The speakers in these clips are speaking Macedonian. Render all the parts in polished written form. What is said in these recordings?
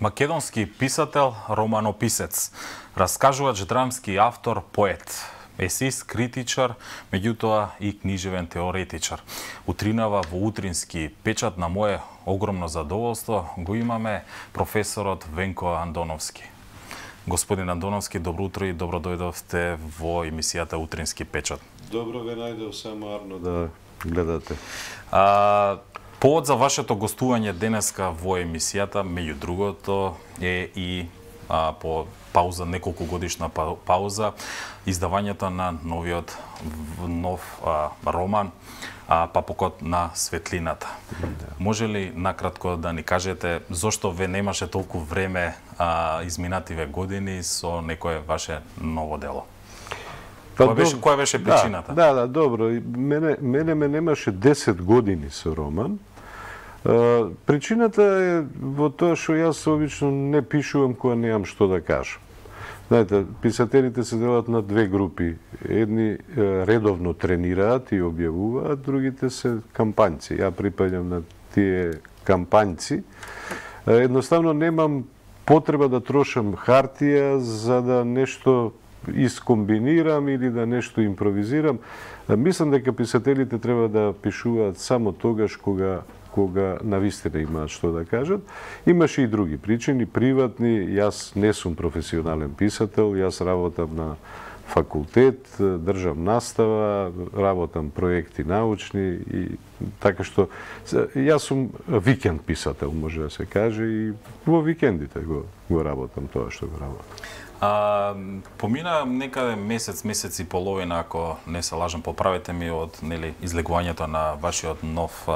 Македонски писател, романописец, раскажувач, драмски автор, поет, есеист, критичар, меѓутоа и книжевен теоретичар. Утринава во утрински печат на мое огромно задоволство го имаме професорот Венко Андоновски. Господин Андоновски, добро утро и добро дојдовте во емисијата Утрински печат. Добро ве најдов, само арно да гледате. Повод за вашето гостување денеска во емисијата, меѓу другото, е и по пауза, неколку годишна пауза, издавањето на нов роман Папокот на светлината. Може ли накратко да ни кажете зошто ве немаше толку време изминативе години со некое ваше ново дело? Која беше причината? Да, добро. Мене ме немаше 10 години со роман. Причината е во тоа што јас обично не пишувам кога немам што да кажам. Знаете, писателите се делат на две групи. Едни редовно тренираат и објавуваат, другите се кампањци. Ја припаѓам на тие кампањци. Едноставно немам потреба да трошам хартија за да нешто искомбинирам или да нешто импровизирам. Мислам дека писателите треба да пишуваат само тогаш кога навистина имаат што да кажат. Имаше и други причини, приватни. Јас не сум професионален писател, јас работам на факултет, држам настава, работам проекти научни и така што јас сум викенд писател, може да се каже, и во викендите го работам тоа што го работам. Помина некаде месец и половина, ако не се лажам, поправете ми, од излегувањето на вашиот нов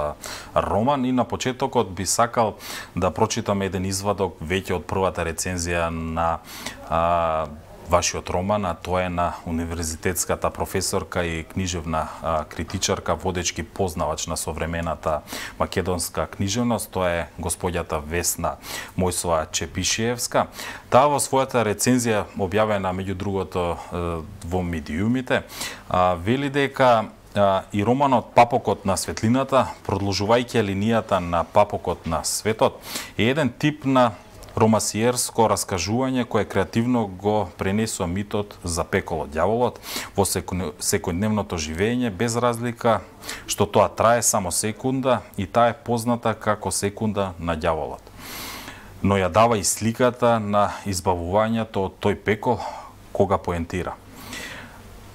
роман, и на почетокот би сакал да прочитам еден извадок веќе од првата рецензија на вашиот роман, а тоа е на универзитетската професорка и книжевна критичарка, водечки познавач на современата македонска книжевност, тоа е господјата Весна Мојсова Чепишиевска. Таа во својата рецензија, објавена меѓу другото во медиумите, вели дека и романот Папокот на светлината, продолжувајќи линијата на Папокот на светот, е еден тип на ромасиерско раскажување кое креативно го пренесува митот за пеколот ѓаволот во секојдневното живење, без разлика што тоа трае само секунда и таа е позната како секунда на ѓаволот. Но ја дава и сликата на избавувањето од тој пекол кога поентира.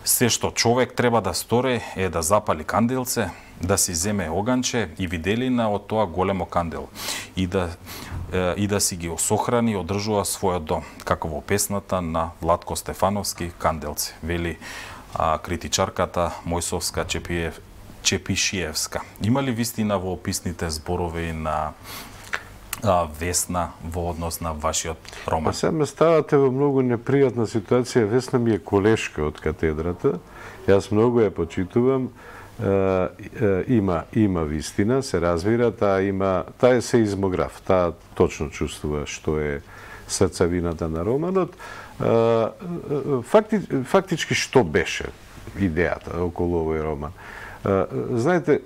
Се што човек треба да стори е да запали канделце, да си земе оганче и виделина од тоа големо кандел и да си ги осохрани и одржува својот дом, како во песната на Владко Стефановски "Канделци", вели критичарката Мојсовска Чепишиевска. Има ли вистина во описните зборови на Весна во однос на вашиот роман? Сега ме ставате во многу непријатна ситуација. Весна ми е колешка од катедрата. Јас многу ја почитувам. Има вистина, се разбира, таа е сеизмограф, таа точно чувствува што е срцевината на романот. Фактички што беше идејата околу овој роман? Знаете,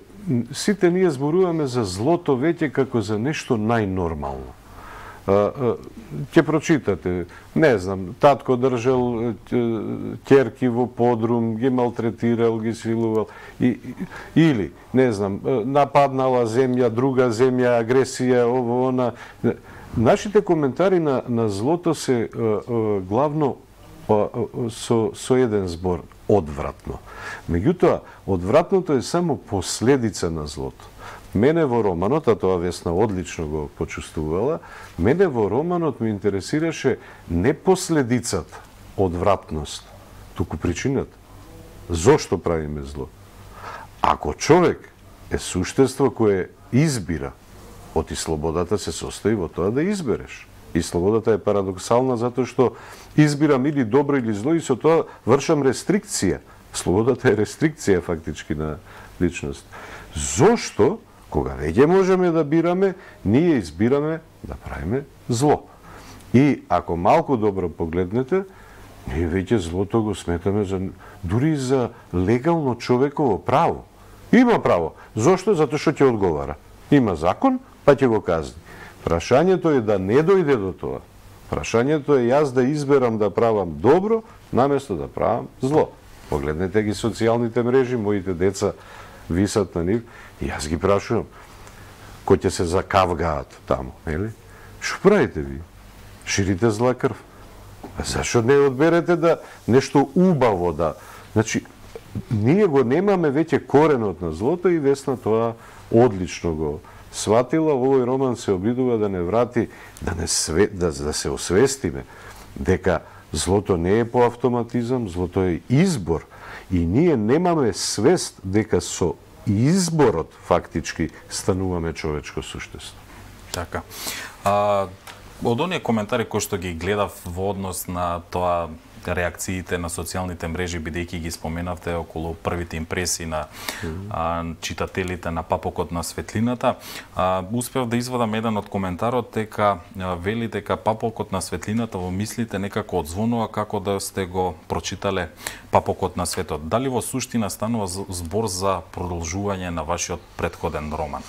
сите ние зборуваме за злото веќе како за нешто најнормално. Ќе прочитате, не знам, татко држал ќерки во подрум, ги малтретирал, ги силувал, или, не знам, нападнала земја, друга земја, агресија, ово, она. Нашите коментари на злото се главно со еден збор – одвратно. Меѓутоа, одвратното е само последица на злото. Мене во романот, а тоа Весна одлично го почувствувала, мене во романот ме интересираше не последицата, одвратност, туку причината. Зошто правиме зло? Ако човек е суштество кое избира, оти слободата се состои во тоа да избереш. И слободата е парадоксална затоа што избирам или добро или зло и со тоа вршам рестрикција. Слободата е рестрикција фактички на личност. Зошто, кога веќе можеме да бираме, ние избираме да правиме зло? И ако малку добро погледнете, ние веќе злото го сметаме дури за легално човеково право. Има право. Зошто? Затоа што ќе одговара. Има закон, па ќе го казни. Прашањето е да не дојде до тоа. Прашањето е јас да изберам да правам добро, наместо да правам зло. Погледнете ги социјалните мрежи, моите деца висат на нив, и јас ги прашувам, кој ќе се закавгаат таму, нели? Што правите ви? Ширите зла крв. А зашо не одберете да нешто убаво да... Значи, ние го немаме веќе коренот на злото и Весна тоа одлично го сватила. Овој роман се обидува да не врати, да се освестиме дека злото не е по автоматизам, злото е избор. И ние немаме свест дека со изборот фактички стануваме човечко суштество. Така. Од оние коментари кои што ги гледав во однос на тоа реакциите на социјалните мрежи, бидејќи ги споменавте околу првите импресии на читателите на Папокот на светлината, успев да извадам еден од коментарот дека вели дека Папокот на светлината во мислите некако одзвонува како да сте го прочитале Папокот на светот. Дали во суштина станува збор за продолжување на вашиот претходен роман?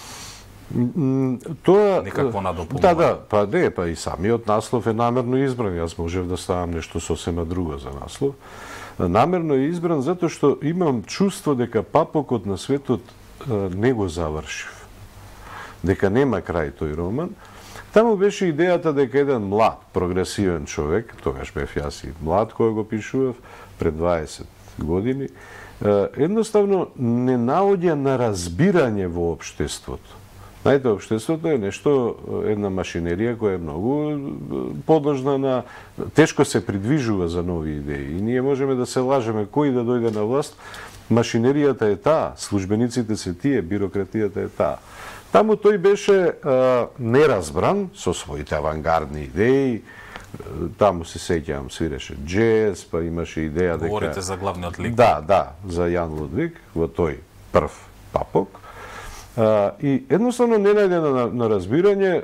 Тоа некакво надополнување. Па и самиот наслов е намерно избран. Јас можев да ставам нешто сосема друго за наслов. Намерно е избран затоа што имам чувство дека Папокот на светот не го завршив. Дека нема крај тој роман. Таму беше идејата дека еден млад, прогресивен човек, тогаш бев јас и млад кој го пишував, пред 20 години, едноставно не наоѓа на разбирање во општеството. Знаете, општеството е нешто, една машинерија која е многу подложна на... Тешко се придвижува за нови идеи. И ние можеме да се лажеме кој да дојде на власт. Машинеријата е таа, службениците се тие, бирократијата е таа. Таму тој беше неразбран со своите авангардни идеи. Таму се сеќавам, свиреше джез, па имаше идеја дека... Говорите за главниот лик? Да, за Јан Лудвиг, во тој прв Папок. И едноставно не најде на разбирање,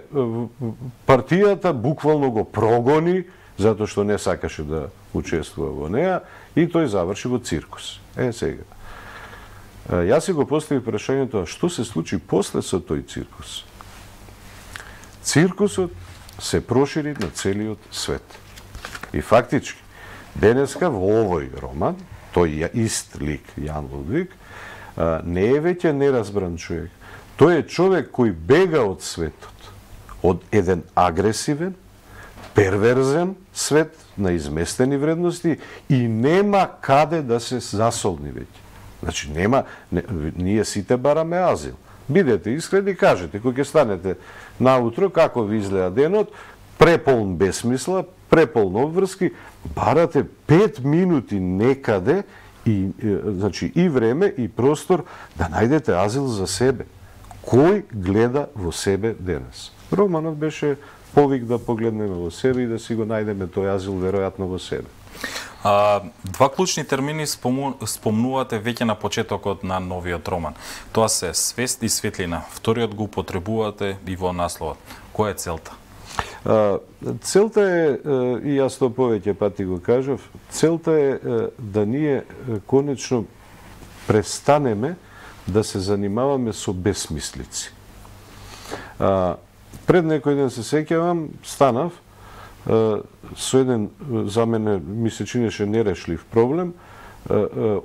партијата буквално го прогони, затоа што не сакаше да учествува во неа, и тој заврши во циркус. Сега. Јас си го поставив прашањето, што се случи после со тој циркус? Циркусот се прошири на целиот свет. И фактички, денеска во овој роман, тој ист лик, Јан Лудвиг, не е веќе неразбран човек. Тој е човек кој бега од светот, од еден агресивен, перверзен свет на изместени вредности и нема каде да се засолни веќе. Значи, ние сите бараме азил. Бидете искрени, кажете, кој ќе станете наутро, како ви изгледа денот, преполн бесмисла, преполн обврски, барате 5 минути некаде, значи и време и простор да најдете азил за себе. Кој гледа во себе денес? Романот беше повик да погледнеме во себе и да си го најдеме тој азил веројатно во себе. Два клучни термини спомнувате веќе на почетокот на новиот роман. Тоа се свест и светлина. Вториот го употребувате и во насловот. Која е целта? Целта е, и јас тоа повеќе пати го кажав, целта е да ние конечно престанеме да се занимаваме со бесмислици. Пред некој ден се сеќавам, станав со еден, за мене ми се чинеше нерешлив проблем,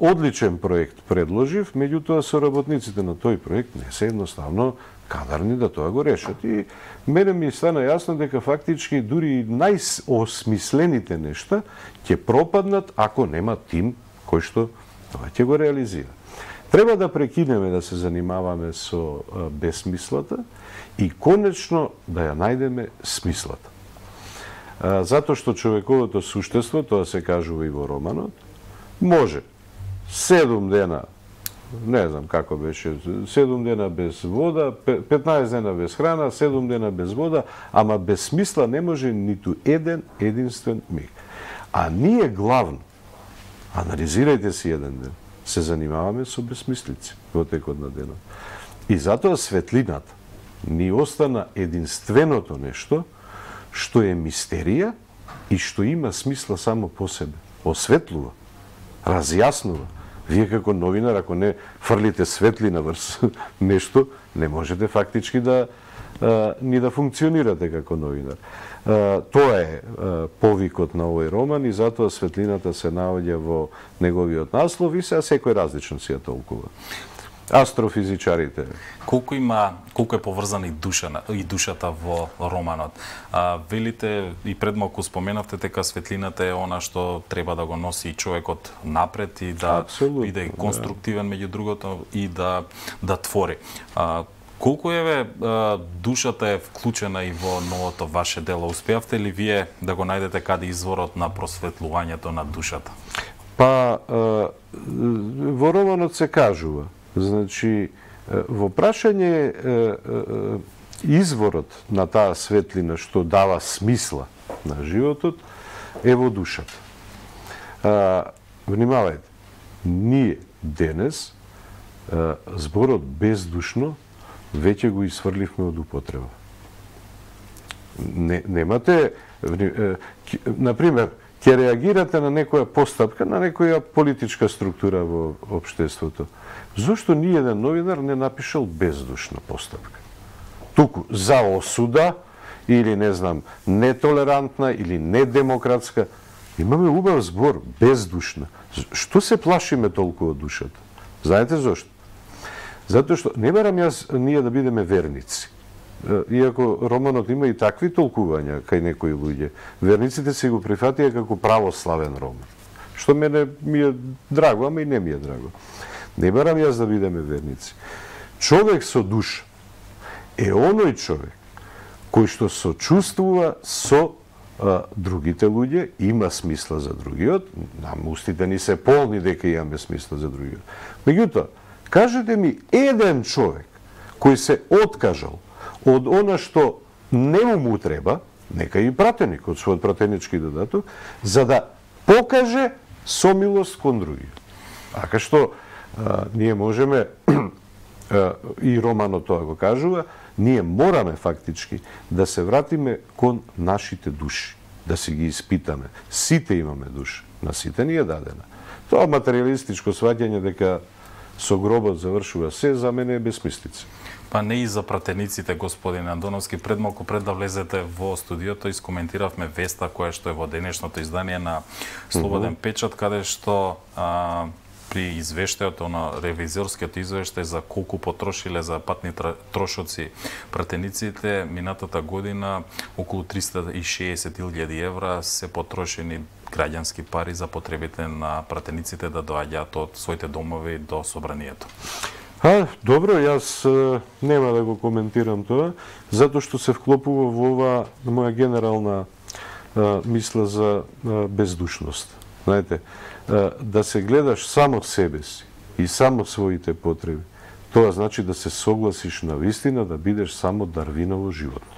одличен проект предложив, меѓутоа соработниците на тој проект не се едноставно кадарни да тоа го решат. И мене ми стана јасно дека фактички дури најосмислените нешта ќе пропаднат ако нема тим кој што тоа ќе го реализира. Треба да прекинеме да се занимаваме со бесмислата и конечно да ја најдеме смислата. Затоа што човековото суштество, тоа се кажува и во романот, може 7 дена, не знам како беше, 7 дена без вода, 15 дена без храна, 7 дена без вода, ама без смисла не може ниту еден единствен миг. А ние главно, анализирајте си еден ден, се занимаваме со бесмислици во текот на денот. И затоа светлината ни остана единственото нешто што е мистерија и што има смисла само по себе. Осветлува, разјаснува. Вие како новинар, ако не фрлите светлина врз нешто, не можете фактички да ни да функционирате како новинар. Тоа е повикот на овој роман и затоа светлината се наоѓа во неговиот наслов и сега секој различно си ја толкува. Астрофизичарите. Колку е поврзана и душата во романот? Велите и пред малку споменавте дека светлината е она што треба да го носи човекот напред и да биде конструктивен меѓу другото и да твори. Колку душата е вклучена и во новото ваше дело? Успеавте ли вие да го најдете каде изворот на просветлувањето на душата? Па во романот се кажува. Значи, во прашање изворот на таа светлина што дава смисла на животот е во душата. Внимавајте, ние денес зборот бездушно веќе го исфрливме од употреба. Немате, например, ќе реагирате на некоја постапка, на некоја политичка структура во општеството. Зошто ни еден новинар не напишал бездушна постапка? Туку за осуда или не знам, нетолерантна или недемократска. Имаме убав збор, бездушна. Што се плашиме толку од душата? Знаете зошто? Затоа што не барам ние да бидеме верници. Иако романот има и такви толкувања кај некои луѓе, верниците се го прифатија како православен роман. Што мене ми е драго, ама и не ми е драго. Не барам јас да бидеме верници. Човек со душа е оној човек кој што сочувствува со другите луѓе, има смисла за другиот, нам устите ни се полни дека имаме смисла за другиот. Меѓутоа, кажете ми еден човек кој се откажал од она што не му треба, нека и пратеник од својот пратенички додаток, за да покаже сомилост кон другиот. Ака што ние можеме, и романот тоа го кажува, ние мораме фактички да се вратиме кон нашите души, да си ги испитаме. Сите имаме душа, на сите ни е дадена. Тоа материалистичко сваќање дека со гробот завршува се, за мене е безсмислица. Па не и за пратениците, господин Андоновски. Пред малку пред да влезете во студиото, искоментиравме веста која што е во денешното издание на Слободен печат, каде што при извештајот, ревизорскиот извештај за колку потрошиле за патни трошоци пратениците, минатата година околу 360.000 евра се потрошени граѓански пари за потребите на пратениците да доаѓаат од своите домови до собранието. Добро, јас нема да го коментирам тоа, затоа што се вклопува во ова моја генерална мисла за бездушност. Знаете, да се гледаш само себе си и само своите потреби, тоа значи да се согласиш на вистина да бидеш само дарвиново животно.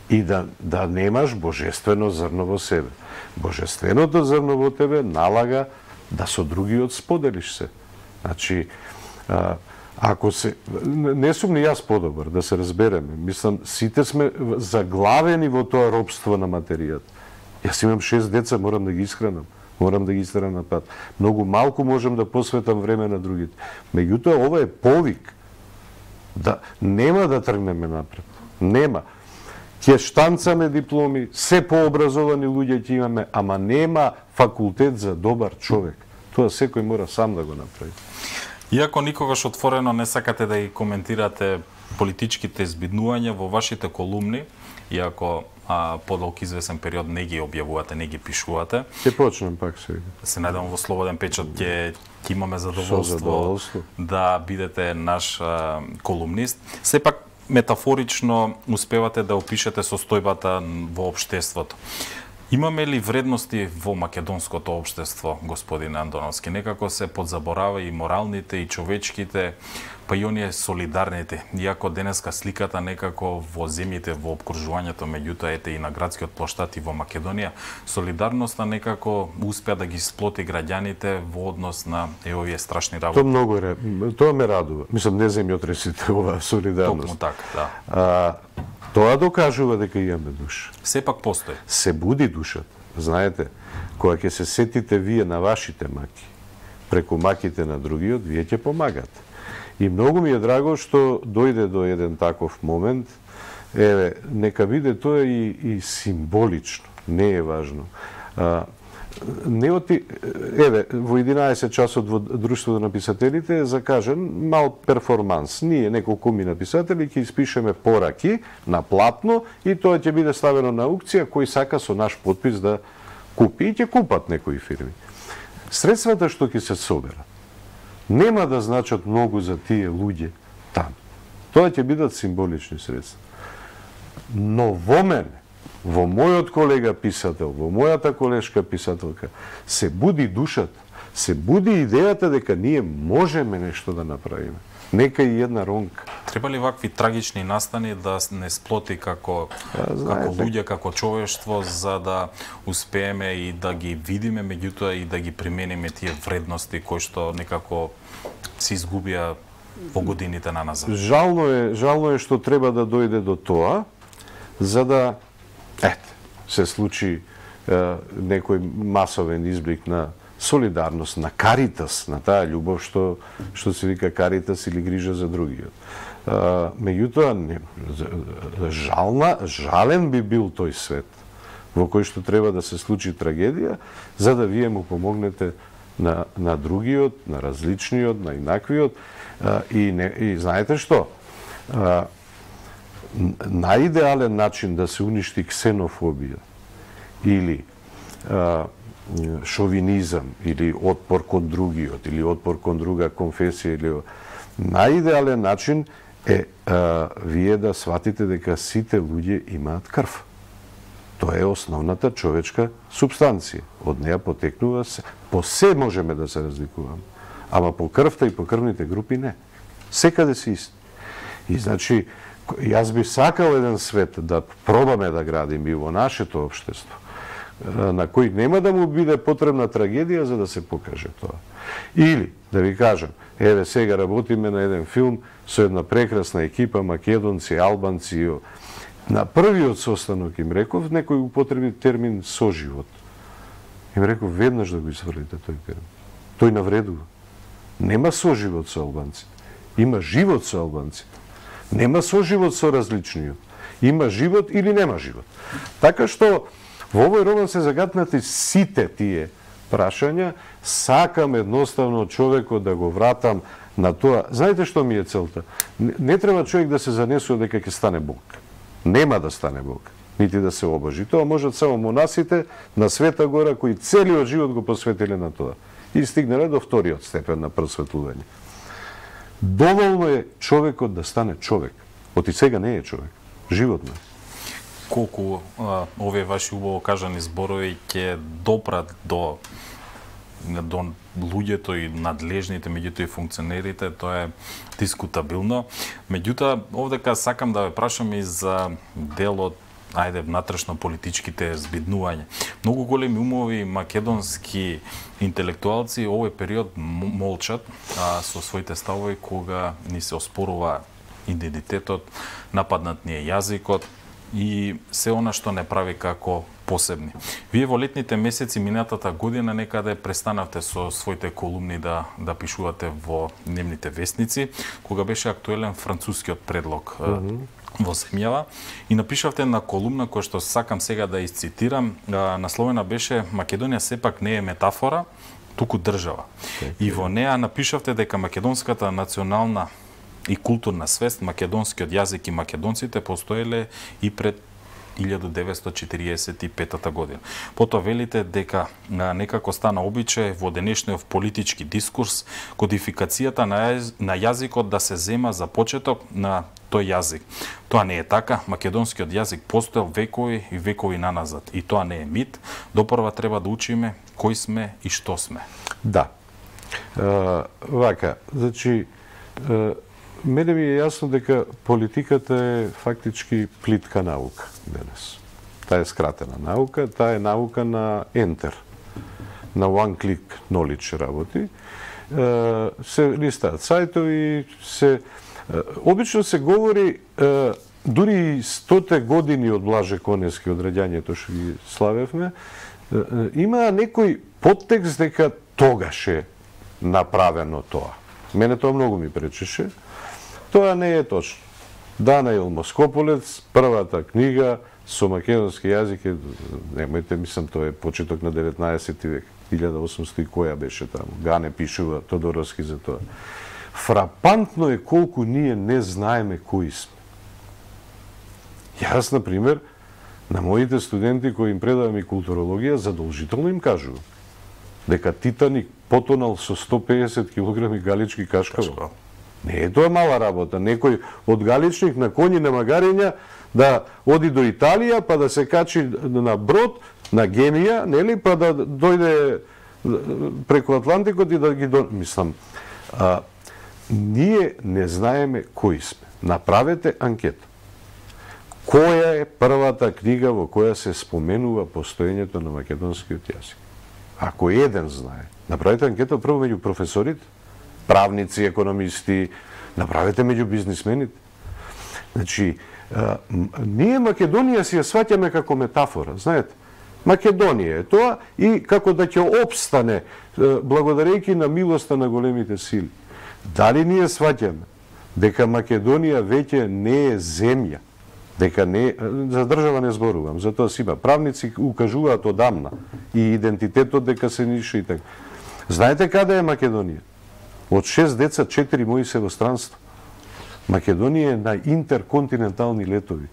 И да немаш божествено зрно во себе. Божественото зрно во тебе налага да со другиот споделиш се. Значи, ако се... Не сум ни јас подобар, да се разбереме. Мислам, сите сме заглавени во тоа робство на материјата. Јас имам 6 деца, морам да ги исхранам. Морам да ги истерам на пат. Многу малку можам да посветам време на другите. Меѓутоа, ова е повик. Да, нема да тргнеме напред. Нема. Ќе штанцаме дипломи, се пообразовани луѓе ќе имаме, ама нема факултет за добар човек. Тоа секој мора сам да го направи. Иако никогаш отворено не сакате да ги коментирате политичките збиднувања во вашите колумни, иако подолг извесен период не ги објавувате, не ги пишувате. Ќе почнем пак сега. Се надевам во Слободен печат ќе имаме задоволство да бидете наш колумнист. Сепак метафорично успевате да опишете состојбата во општеството. Имаме ли вредности во македонското општество, господин Андоновски? Некако се подзаборава и моралните, и човечките, па и оние солидарните. Иако денеска сликата некако во земјите, во обкружувањето, меѓутоа ете и на градскиот плоштад и во Македонија, солидарноста некако успеа да ги сплоти граѓаните во однос на овие страшни работи. Тоа ме радува. Мислам, не земјотресите оваа солидарност. Токму така, да. Тоа докажува дека имаме душа. Сепак постои. Се буди душата. Знаете, кога ќе се сетите вие на вашите маки, преку маките на другиот, вие ќе помагате. И многу ми е драго што дојде до еден таков момент еве, нека биде тоа и символично, не е важно. Не оти, еве, во 11 часот во Друштвото на писателите е закажен мал перформанс. Ние, неколку писатели, ќе испишеме пораки на платно и тоа ќе биде ставено на аукција, кој сака со наш потпис да купи и ќе купат некои фирми. Средствата што ќе се соберат нема да значат многу за тие луѓе таму. Тоа ќе бидат символични средства. Но во мене, во мојот колега писател, во мојата колешка писателка, се буди душата, се буди идејата дека ние можеме нешто да направиме. Нека и една ронка. Треба ли вакви трагични настани да не сплоти како луѓе, како човештво, за да успееме и да ги видиме, меѓутоа и да ги примениме тие вредности кои што некако се изгубија во годините на назад? Жално е што треба да дојде до тоа, за да се случи некој масовен изблик на солидарност, на каритас, на таа љубов што се вика каритас или грижа за другиот. Меѓутоа, жален би бил тој свет во кој што треба да се случи трагедија, за да вие му помогнете на другиот, на различниот, на инаквиот. И знаете што? Најидеален начин да се уништи ксенофобија или шовинизам или отпор кон другиот или отпор кон друга конфесија или најидеален начин е вие да сватите дека сите луѓе имаат крв. Тоа е основната човечка супстанција. Од неа потекнува се. По се можеме да се разликуваме, ама по крвта и по крвните групи не. Секаде се исти. И значи јас би сакал еден свет да пробаме да градим и во нашето општество, на кој нема да му биде потребна трагедија за да се покаже тоа. Или, да ви кажам, еве сега работиме на еден филм со една прекрасна екипа, македонци, албанци. На првиот состанок им реков, некој употреби термин соживот. Им реков веднаш да го изврлите тој термин. Тој навредува. Нема соживот со албанците. Има живот со албанците. Нема соживот со различниот. Има живот или нема живот. Така што во овој роман се загатнати сите тие прашања. Сакам едноставно човекот да го вратам на тоа. Знаете што ми е целта? Не треба човек да се занесува дека ќе стане Бог. Нема да стане Бог, нити да се обожи. Тоа можат само монасите на Света Гора кои целиот живот го посветиле на тоа и стигнале до вториот степен на просветлување. Доволно е човекот да стане човек. Оти сега не е човек. Животно е. Колку овие ваши убаво кажани зборови ќе допрат до луѓето и надлежните, меѓутоа и функционерите, тоа е дискутабилно. Меѓутоа, овдека сакам да ве прашам и за делот, внатрешно политичките збиднувања. Многу големи умови македонски интелектуалци овој период молчат со своите ставови кога ни се оспорува идентитетот, нападнат ни е јазикот и се она што не прави како посебни. Вие во летните месеци минатата година некаде престанавте со своите колумни да пишувате во дневните вестници, кога беше актуелен францускиот предлог во земјава и напишавте на колумна која што сакам сега да изцитирам, насловена беше "Македонија сепак не е метафора, туку држава". И во неа напишавте дека македонската национална и културна свест, македонскиот јазик и македонците постоеле и пред 1945 година. Потоа велите дека некако стана обичај во денешниот политички дискурс кодификацијата на јазикот да се зема за почеток на тој јазик. Тоа не е така. Македонскиот јазик постоел векови и векови наназад. И тоа не е мит. Допрва треба да учиме кои сме и што сме. Да. Вака, значи, мене ми е јасно дека политиката е фактички плитка наука денес. Таа е скратена наука, таа е наука на ентер, на one click knowledge работи. Се листаат сајтови, обично се говори, дури 100 години од Блаже Коневски, од раѓањето што ги славевме, има некој подтекст дека тогаш е направено тоа. Мене тоа многу ми пречеше. Тоа не е точно. Данаил Москополец, првата книга со македонски јазик е, немојте, мислам, тоа е почеток на 19 век, 1800 и која беше таму. Гане пишува Тодоровски за тоа. Фрапантно е колку ние не знаеме кои сме. Јас, например, на моите студенти кои им предавам и културологија, задолжително им кажувам дека Титаник потонал со 150 кг галички кашкава. Не е тоа мала работа. Некој од Галичник на коњи на магарења да оди до Италија, па да се качи на брод, на Генија, нели, па да дојде преку Атлантикот и да ги мислам. Ние не знаеме кои сме. Направете анкета. Која е првата книга во која се споменува постоењето на македонскиот јазик? Ако еден знае, направете анкета прво меѓу професорите, правници, економисти, направете меѓу бизнисмените. Значи, ние Македонија си ја сваќаме како метафора, знаете. Македонија е тоа и како да ќе опстане благодарејќи на милоста на големите сили. Дали ние сваќаме дека Македонија веќе не е земја, дека не, за држава не зборувам, за тоа си има. Правници укажуваат одамна и идентитетот дека се ниша и така. Знаете каде е Македонија? Од 6 деца, 4 мои се во странство. Македонија е на интерконтинентални летови.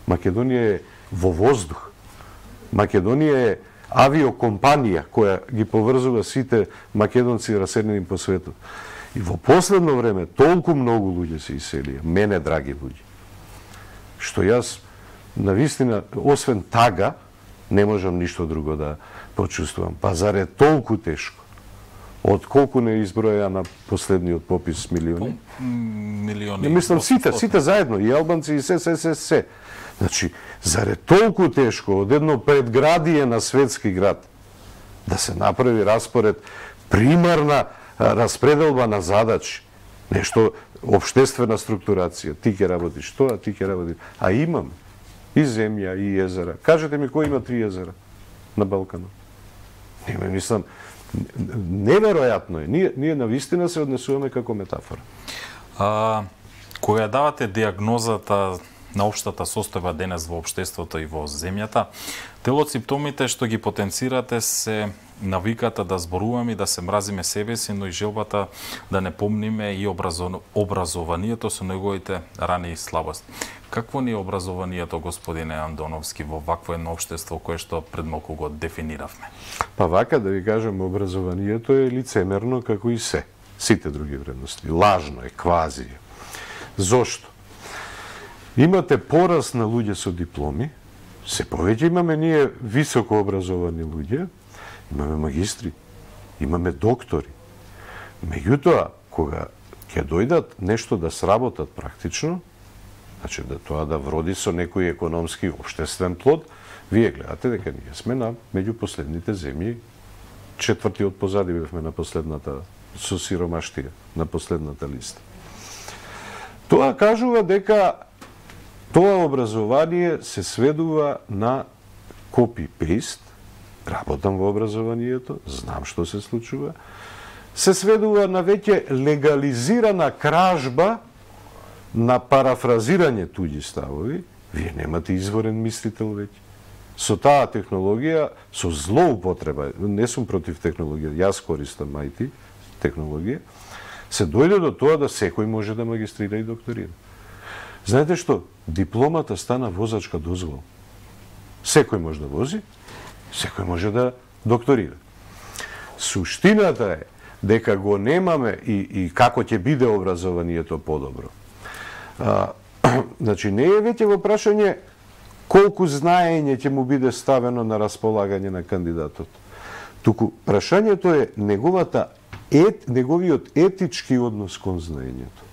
Македонија е во воздух. Македонија е авиокомпанија која ги поврзува сите македонци раседнени по светот. И во последно време толку многу луѓе се иселија, мене драги луѓе, што јас навистина, освен тага, не можам ништо друго да почувствувам. Па заре толку тешко? Од колку не изброја на последниот попис милиони? Милиони. Мислам сите заедно, и албанци и се. Значи, заре толку тешко од едно предградие на светски град да се направи распоред, примарна распределба на задачи, нешто општествена структурација, ти ќе работиш тоа, ти ќе работиш. А имам и земја, и езера. Кажете ми кој има 3 езера на Балканот? Нема, мислам, неверојатно е. Ние навистина се однесуваме како метафора. Кога давате диагнозата на општата состојба денес во општеството и во земјата, дел од симптомите што ги потенцирате се навиката да зборуваме и да се мразиме себе си, но и желбата да не помниме и образованието со неговите рани и слабости. Какво ни е образованието, господине Андоновски, во вакво едно општество кое што пред малку го дефиниравме? Па вака да ви кажам, образованието е лицемерно како и се. Сите други вредности. Лажно е, квази. Зошто? Имате пораст на луѓе со дипломи, се повеќе имаме ние високо образовани луѓе, имаме магистри, имаме доктори. Меѓутоа, кога ќе дојдат нешто да сработат практично, значи да тоа да вроди со некој економски општествен плод, вие гледате дека ние сме на меѓу последните земји, четврти од позади бевме на последната со сиромаштија, на последната листа. Тоа кажува дека тоа образование се сведува на копи-пейст, работам во образованието, знам што се случува, се сведува на веќе легализирана кражба на парафразирање туѓи ставови. Вие немате изворен мислител веќе. Со таа технологија, со злоупотреба, не сум против технологија, јас користам IT технологија, се дојде до тоа да секој може да магистрира и докторира. Знаете што? Дипломата стана возачка дозвола. Секој може да вози, секој може да докторира. Суштината е дека го немаме и како ќе биде образованието подобро. Значи, не е веќе во прашање колку знаење ќе му биде ставено на располагање на кандидатот. Туку прашањето е неговиот етички однос кон знаењето.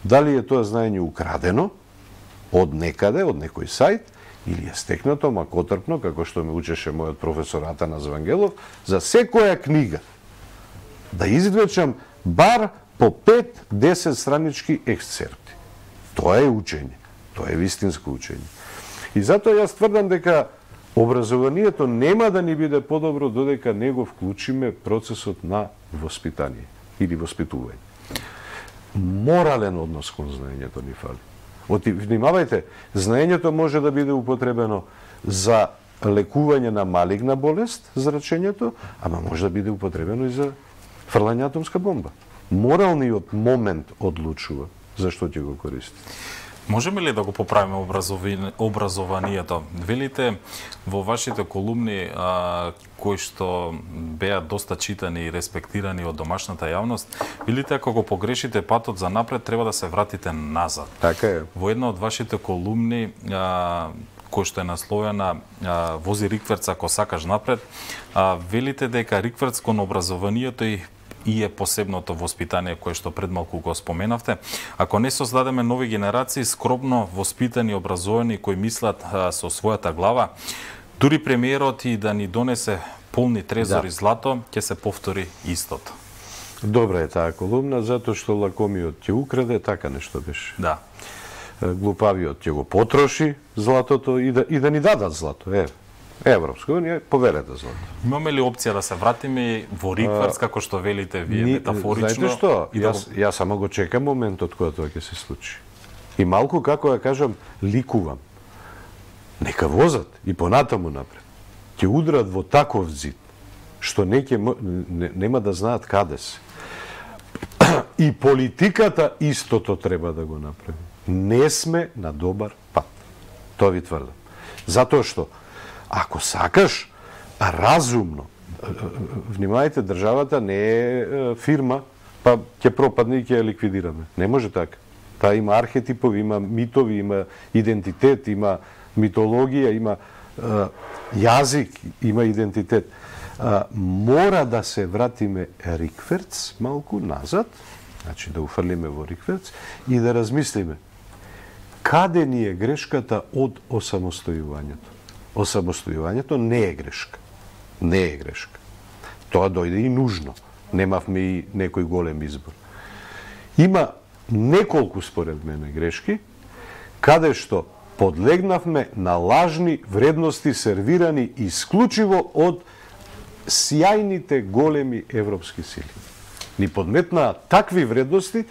Дали е тоа знаење украдено од некаде, од некој сајт, или е стекнато макотрпно, како што ме учеше мојот професор Атанас Вангелов, за секоја книга да извлечам бар по 5-10 странички ексцерпти. Тоа е учење, тоа е вистинско учење. И затоа јас тврдам дека образованието нема да ни биде подобро додека не го вклучиме процесот на воспитание или воспитување. Морален однос кон знаењето ни фали. Внимавајте, знаењето може да биде употребено за лекување на малигна болест, зрачењето, ама може да биде употребено и за фрлање атомска бомба. Моралниот момент одлучува зашто ќе го користи. Можеме ли да го поправиме образованието? Велите во вашите колумни кои што беа доста читани и респектирани од домашната јавност, велите ако го погрешите патот за напред, треба да се вратите назад. Така е. Во една од вашите колумни кој што е насловена "Вози рикверц ако сакаш напред", велите дека рикверц кон образованието и е посебното воспитание кое што пред малку го споменавте. Ако не создадеме нови генерации, скромно воспитани, образовани, кои мислат со својата глава, дури премиерот и да ни донесе полни трезори злато, ќе се повтори истото. Добра е таа колумна, затоа што лакомиот ќе украде, така нешто беше. Да. Глупавиот ќе го потроши златото и да ни дадат злато. Европска унија поверете злато. Имаме ли опција да се вратиме во рикверц, како што велите вие метафорично? Знаете што? Јас само го чекам моментот кога тоа ќе се случи. И малку, како ја кажам, ликувам. Нека возат и понатаму напред. Ќе удрат во таков зид, што нема да знаат каде се. И политиката истото треба да го направи. Не сме на добар пат. Тоа ви тврдам. Затоа што ако сакаш разумно, внимавајте, државата не е фирма, па ќе пропадне и ќе ја ликвидираме. Не може така. Таа има архетипови, има митови, има идентитет, има митологија, има јазик, има идентитет. Мора да се вратиме рикверц малку назад, значи да уфрлиме во рикверц и да размислиме каде ни е грешката од осамостојувањето. Осамостојувањето не е грешка. Не е грешка. Тоа дојде и нужно. Немавме и некој голем избор. Има неколку, според мене, грешки, каде што подлегнавме на лажни вредности сервирани исклучиво од сјајните големи европски сили. Ни подметнаа такви вредности,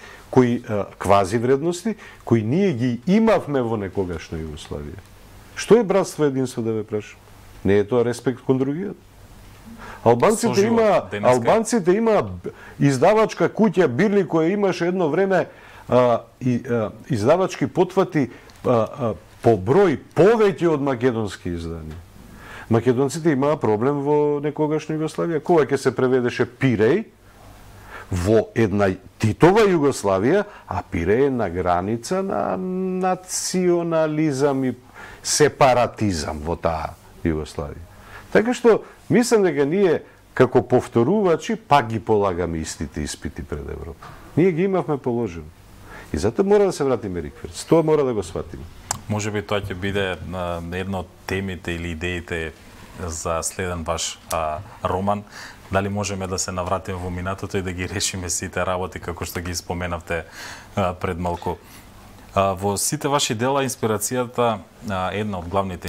квази вредности, кои ние ги имавме во некогашна Југославија. Што е братство и единство, да ве прашам? Не е тоа респект кон другиот? Албанците има издавачка куќа Бирли која имаше едно време издавачки потвати по број повеќе од македонски изданија. Македонците имаа проблем во некогашна Југославија. Кога ќе се преведеше Пиреј во една Титова Југославија, а Пиреј е на граница на национализам и сепаратизам во таа Југославија. Така што, мислам дека ние, како повторувачи, пак ги полагаме истите испити пред Европа. Ние ги имавме положено. И затоа мора да се вратиме рикверц. Тоа мора да го сватиме. Може би тоа ќе биде една од темите или идеите за следен ваш роман. Дали можеме да се навратиме во минатото и да ги решиме сите работи како што ги споменавте пред малку. Во сите ваши дела инспирацијата, една од главните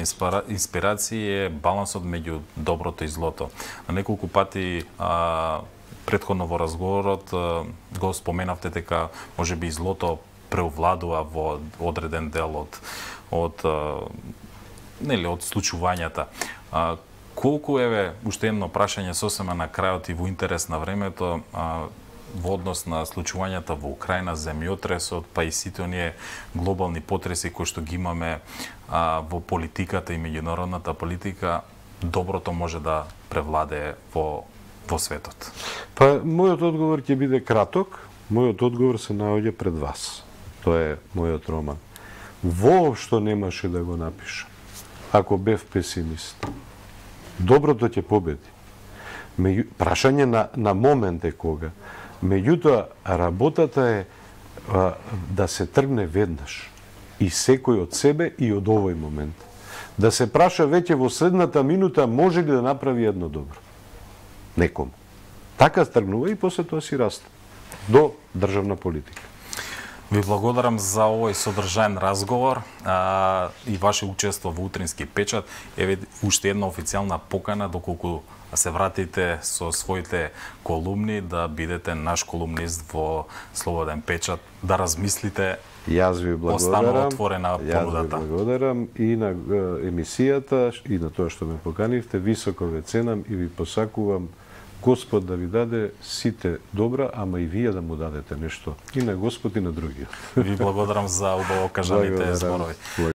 инспирации е балансот меѓу доброто и злото. На неколку пати претходно во разговорот го споменавте дека можеби злото преовладува во одреден дел од случувањата. Колку уште едно прашање сосема на крајот и во интерес на времето, во однос на случувањата во Украина, земјотресот, па и сите оние глобални потреси кои што ги имаме во политиката и меѓународната политика, доброто може да превладее во светот? Па, мојот одговор ќе биде краток. Мојот одговор се наоѓа пред вас. Тоа е мојот роман. Воопшто немаше да го напишам, ако бев песимист. Доброто ќе победи. Прашање на момент е кога. Меѓутоа, работата е да се тргне веднаш. И секој од себе и од овој момент. Да се праша веќе во следната минута може ли да направи едно добро. Некому. Така тргнува и после тоа си расте. До државна политика. Ви благодарам за овој содржаен разговор и ваше учество во Утрински печат. Еве уште една официјална покана доколку се вратите со своите колумни да бидете наш колумнист во Слободен печат, да размислите. Јас ви благодарам. Останува отворена понудата. Јас ви благодарам и на емисијата и на тоа што ме поканивте. Високо ве ценам и ви посакувам Господ да ви даде сите добра, ама и вие да му дадете нешто. И на Господ и на другиот. Ви благодарам за убаво кажаните зборови.